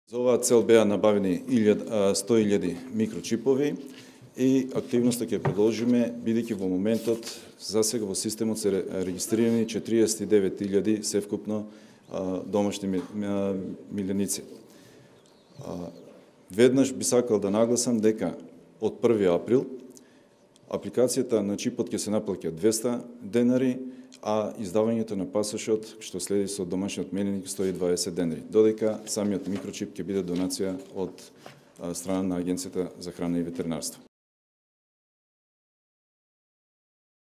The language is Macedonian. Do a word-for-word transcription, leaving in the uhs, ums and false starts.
За оваа цел беа набавени сто илјади микрочипови и активноста ќе продолжиме, бидејќи во моментот за сега во системот се регистрирани четириесет и девет илјади севкупно домашни миленици. Веднаш би сакал да нагласам дека од први април апликацијата на чипот ќе се наплаќа двесте денари, а издавањето на пасошот, што следи со домашниот миленик, сто и дваесет денари, додека самиот микрочип ќе биде донација од страна на Агенцијата за храна и ветеринарство.